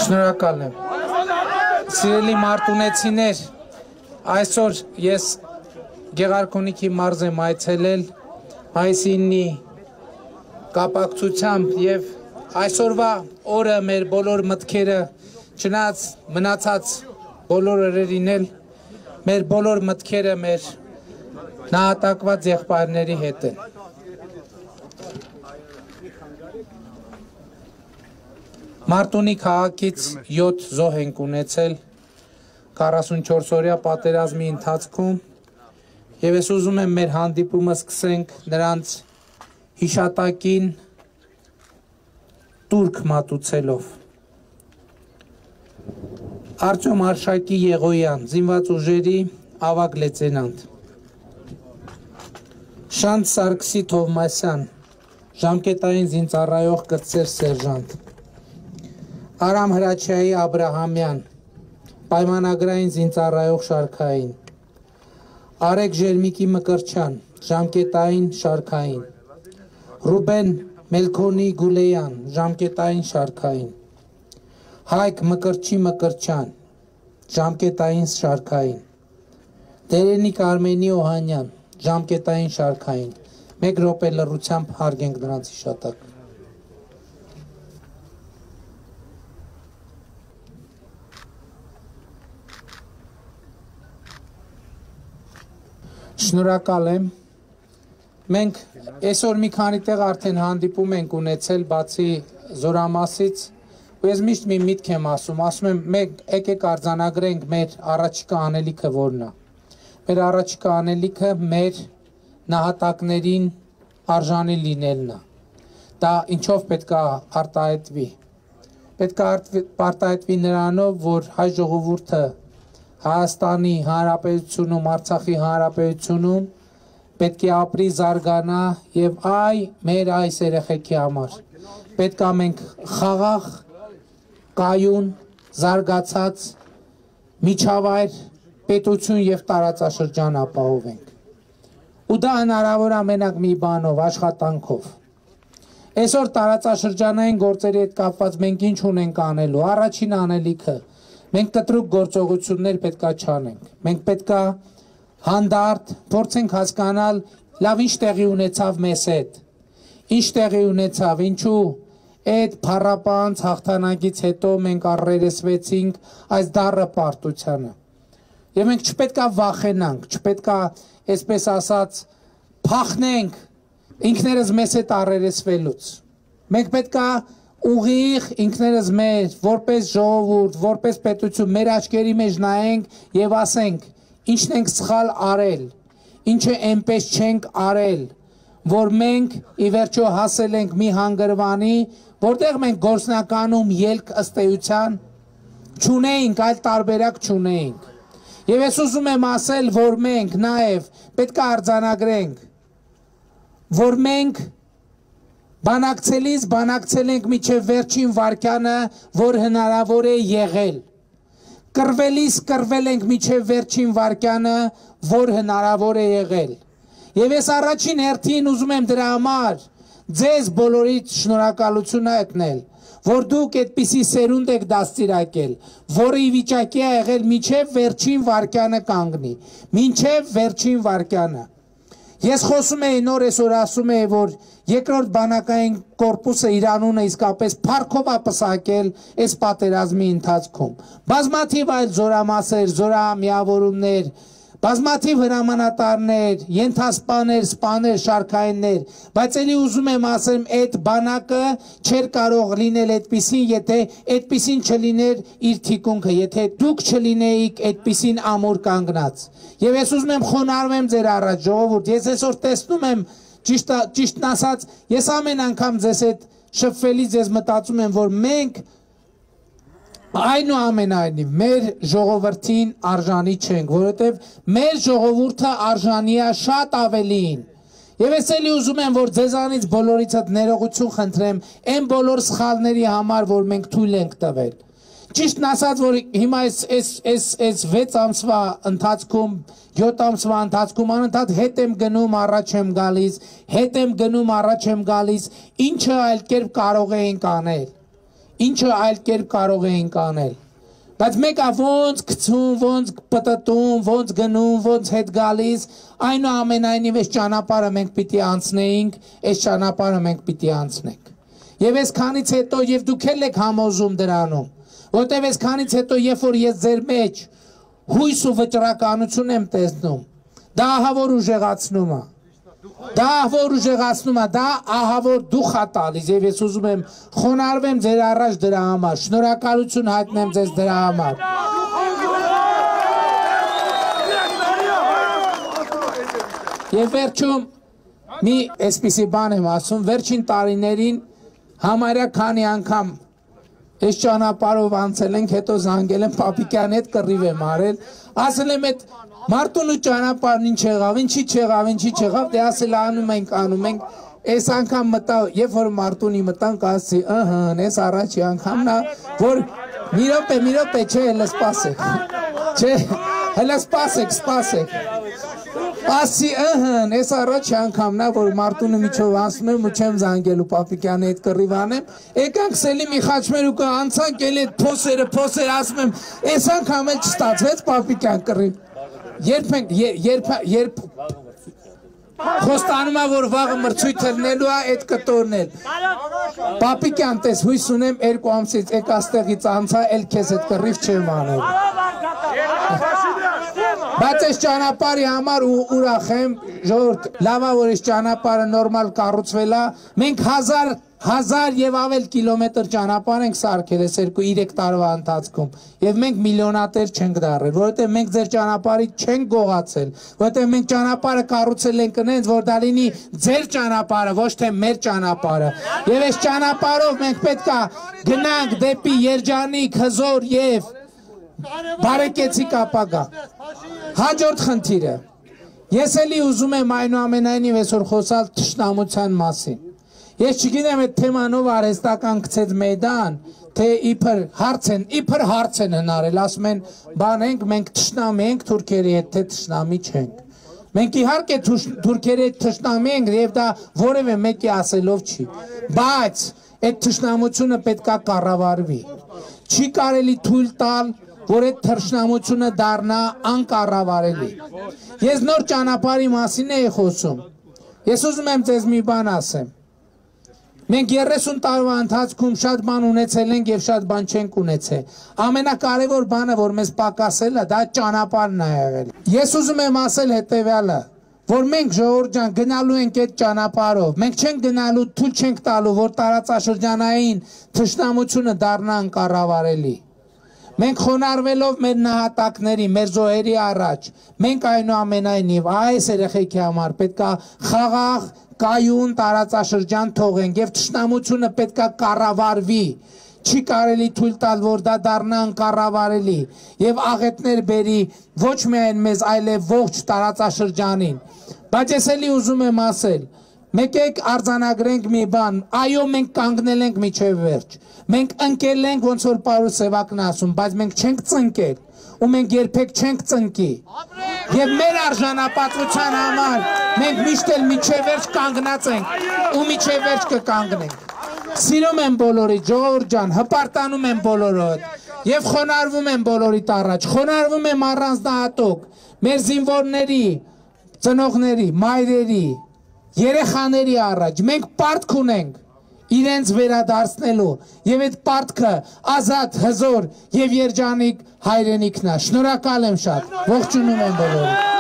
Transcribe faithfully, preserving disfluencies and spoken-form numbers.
Շնորհակալ եմ։ Սիրելի մարտունեցիներ, այսօր ես Գեղարքունիքի մարզ եմ այցելել մայիսի ինի կապակցությամբ եւ այսօրվա օրը մեր բոլոր մտքերը չնայած մնացած բոլոր օրերին էլ մեր բոլոր մտքերը մեր նահատակված եղբայրների հետ են։ Մարտունի քաղաքից յոթ զոհ ենք ունեցել քառասունչորս օրյա պատերազմի ընթացքում եւ ես ուզում եմ մեր հանդիպումը սկսենք նրանց հիշատակին տուրք մատուցելով։ Արտյոմ Արշակի Եղոյան, զինված ուժերի ավագ լեյտենանտ։ Շանթ Սարգսի Թովմասյան, ժամկետային զինծառայող կրտսեր սերժանտ։ Արամ Հրաչյայի Աբրահամյան, պայմանագրային զինծառայող շարքային։ Արեգ Ժերմիկի Մկրչյան, ժամկետային շարքային։ Ռուբեն Մելքոնի Գուլեյան, ժամկետային շարքային։ Հայկ Մկրչի Մկրչյան, ժամկետային շարքային։ Տերենիկ Արմենի Օհանյան, ժամկետային շարքային։ Մեկ րոպե լռությամբ հարգենք նրանց հիշատակ։ Շնորհակալ եմ։ Մենք այսօր մի քանի տեղ արդեն հանդիպում ենք ունեցել բացի Զորամասից, ու ես միշտ մի միտք եմ ասում, ասում եմ մենք եկեք արձանագրենք մեր առաջիկա անելիքը որն է։ Մեր առաջիկա անելիքը մեր նահատակներին արժանի լինելն է։ Դա ինչով պետք է արտահայտվի։ Պետք է արտահայտվի նրանով, որ հայ ժողովուրդը Հայաստանի Հանրապետությունում, Արցախի Հանրապետությունում պետք է ապրի, զարգանա եւ այ մեր այս երեխեքի համար պետք է մենք խաղաղ, կայուն, զարգացած միջավայր, պետություն եւ տարածաշրջան ապահովենք։ Ու դա հնարավոր է մենակ մի բանով, աշխատանքով։ Այսօր տարածաշրջանային գործերի հետ կապված մենք ինչ ունենք անելու, առաջին անելիքը մենք կտրուկ գործողություններ պետքա չանենք։ Մենք պետքա հանդարտ փորձենք հասկանալ լավ ինչ տեղի ունեցավ մեզ հետ։ Ինչ տեղի ունեցավ, ինչու այդ փառապանց հաղթանակից հետո մենք առերեսվեցինք այս դառը պարտությանը։ Եվ մենք չպետքա վախենանք, չպետքա, այսպես ասած, փախնենք ինքներս մեզ հետ առերեսվելուց։ Մենք պետքա ուղիղ ինքներս մեր, որպես ժողովուրդ, որպես պետություն, մեր աչքերի մեջ նայենք եւ ասենք, ինչն ենք սխալ արել, ինչը այնպես չենք արել, որ մենք ի վերջո հասել ենք մի հանգրվանի, որտեղ մենք գործնականում ելք ըստ էության չունեինք, այլ տարբերակ չունեինք։ Եվ ես ուզում եմ ասել, որ մենք նաեւ պետք է արձանագրենք, որ մենք բանակցելիս բանակցել ենք միջև վերջին վարկյանը, որ հնարավոր է եղել։ Կռվելիս կռվել ենք միջև վերջին վարկյանը, որ հնարավոր է եղել։ Եվ ես առաջին հերթին ուզում եմ դրա համար ձեզ բոլորից շնորհակալություն հայտնել, որ դուք այդպիսի սերունդ եք դաստիարակել, որը ի վիճակի է եղել միջև վերջին վարկյանը կանգնի, մինչև վերջին վարկյանը։ Ես խոսում էի նոր այսօր ասում էի, որ երկրորդ բանակային կորպուսը իր անունը իսկապես փառքով է պսակել այս պատերազմի ընթացքում։ Բազմաթիվ այլ զորամասեր, զորամիավորումներ, բազմաթիվ հրամանատարներ, ենթասպաներ, սպաներ, շարքայիններ, բայց ելի ուզում եմ ասեմ, այդ բանակը չէր կարող լինել այդպիսին, եթե այդպիսին չլիներ իր թիկունքը, եթե դուք չլինեիք այդպիսին ամուր կանգնած։ Եվ ես ուզում եմ խոնարհվեմ ձեր առաջ, ժողովուրդ, ես այսօր տեսնում եմ, ճիշտն ասած, ես ամեն անգամ ձեզ հետ շփվելիս ես մտածում եմ, որ մենք այնուամենայնիվ մեր ժողովրդին արժանի չենք, որովհետև մեր ժողովուրդը արժանի է շատ ավելին։ Եվ ես էլի ուզում եմ, որ ձեզանից բոլորից հետ ներողություն խնդրեմ այն բոլոր սխալների համար, որ մենք թույլ ենք տվել։ Ճիշտն ասած, որ հիմա այս վեց ամսվա ընթացքում, յոթ ամսվա ընթացքում անընդհատ հետ եմ գնում, առաջ եմ գալիս, հետ եմ գնում, առաջ եմ գալիս, ինչը այլ կերպ կարող էինք անել։ ինչը այլ կերպ կարող էինք անել։ Բայց մեկը ոնց գցում, ոնց պտտում, ոնց գնում, ոնց հետ գալիս, այնուամենայնիվ այս ճանապարհը մենք պիտի անցնեինք, այս ճանապարհը մենք պիտի անցնենք։ Եվ այսքանից հետո եւ դուք էլ եք համոզում դրանում, որտեւ այսքանից հետո երբ որ ես ձեր մեջ հույս ու վճռականություն եմ տեսնում, դա ահա որ ուժեղացնում է։ Դա որ ուժեղացնում է, դա ահա որ դուխ է տալիս եւ ես ուզում եմ խոնարհվեմ ձեր առաջ դրա համար, շնորհակալություն հայտնեմ ձեզ դրա համար։ Եվ վերջում մի այսպիսի բան եմ ասում, վերջին տարիներին համարյա քանի անգամ այս ճանապարհով անցել ենք, հետո զանգել եմ Պապիկյանի հետ կռիվ եմ արել, ասել եմ այդ Մարտունու ճանապարհն ինչ եղավ, ինչի չեղավ, ինչի չեղավ, դե ասել անում ենք, անում ենք, այս անգամ մտա, երբ որ Մարտունի մտանք, ասի, ըհը, այս առաջի անգամն է, որ մի րոպե, մի րոպե, չէ, հələ սպասեք, չէ, հələ սպասեք, սպասեք, ասի, ըհը, այս առաջի անգամն է, որ Մարտունու միջով անցնում եմ ու չեմ զանգելու Պապիկյանի հետ կռիվ անեմ, եկանք Սելիմի Խաչմերուկը անցանք, էլ այդ փոսերը, փոսերը ասում եմ, այս անգամ էլ չստացվեց Պապիկյան կռիվ։ Երբ ենք, երբ, երբ խոստանում է, որ վաղը մրցույթ լնելու է, այդ կտորն էլ։ Պապիկյան տես, հույս ունեմ երկու ամսից եկ աստեղից անցա, էլ քեզ այդ կռիվ չեմ անել։ Բայց այս ճանապարհի համար ուրախ եմ, ժողովուրդ, լավ է, որ այս ճանապարհը նորմալ կառուցվել է, մենք հազար հազար եւ ավել կիլոմետր ճանապարհ ենք սարքել այս երկու երեք տարվա ընթացքում եւ մենք միլիոնատեր չենք դառել, որովհետեւ մենք ձեր ճանապարհից չենք գողացել, որովհետեւ մենք ճանապարհը կառուցել ենք այնց, որ դա լինի ձեր ճանապարհը, ոչ թե մեր ճանապարհը։ Եվ այս ճանապարհով մենք պետքա գնանք դեպի երջանիկ, հզոր եւ բարեկեցիկ ապագա։ Հաջորդ խնդիրը։ Ես էլի ուզում եմ այնուամենայնիվ այսօր խոսալ թշնամության մասին։ Ես չգիտեմ այդ թեմանով արհեստական գցեց մեդան, թե իբր հարց են, իբր հարց են հնարել, ասում են, բան ենք, մենք թշնամի ենք թուրքերի հետ, թե թշնամի չենք։ Մենք իհարկե թուրքերի հետ թշնամի ենք եւ դա որևէ մեկի ասելով չի, բայց այդ թշնամությունը պետքա կառավարվի։ Չի կարելի թույլ տալ, որ այդ թշնամությունը դառնա անկառավարելի։ Ես նոր ճանապարհի մասին էի խոսում։ Ես ուզում եմ ձեզ մի բան ասեմ։ Մենք երեսուն տարվա ընթացքում շատ բան ունեցել ենք եւ շատ բան չենք ունեցել։ Ամենակարևոր բանը, որ մեզ պակասել է, դա ճանապարհն է եղել։ Ես ուզում եմ ասել հետեւյալը, որ մենք ժողովուրդ ջան գնալու ենք այդ ճանապարհով։ Մենք չենք գնալու, թույլ չենք տալու, որ տարածաշրջանային թշնամությունը դառնա անկառավարելի։ Մենք խոնարհվելով մեր նահատակների, մեր զոհերի առաջ, մենք այնուամենայնիվ այս երեխեքի համար պետքա խաղաղ կայուն տարածաշրջան թողենք եւ թշնամությունը պետքա կառավարվի, չի կարելի թույլ տալ, որ դա դառնա անկառավարելի եւ աղետներ բերի ոչ միայն մեզ, այլև ողջ տարածաշրջանին։ Բայց ես էլի ուզում եմ ասել, մեկ եք արձանագրենք մի բան, այո, մենք կանգնել ենք միջև վերջ, մենք ընկել ենք, ոնց որ Պարուս Սևակն ասում, բայց մենք չենք ծնկել ու մենք երբեք չենք ծնկի։ Եվ մեր արժանապատվության համար մենք միշտ էլ միջև վերջ կանգնած ենք ու միջև վերջ կկանգնենք։ Սիրում եմ բոլորիդ, ժողովուրդ ջան, հպարտանում եմ բոլորոդ եւ խոնարհվում եմ բոլորիդ առաջ, խոնարհվում եմ առանձնահատուկ մեր զինվորների, ծնողների, մայրերի, երեխաների առաջ։ Մենք պարտք ունենք իրենց վերադարձնելու եւ այդ պարտքը ազատ, հզոր եւ երջանիկ հայրենիքն է։ Շնորհակալ եմ շատ։ Ողջունում եմ բոլորին։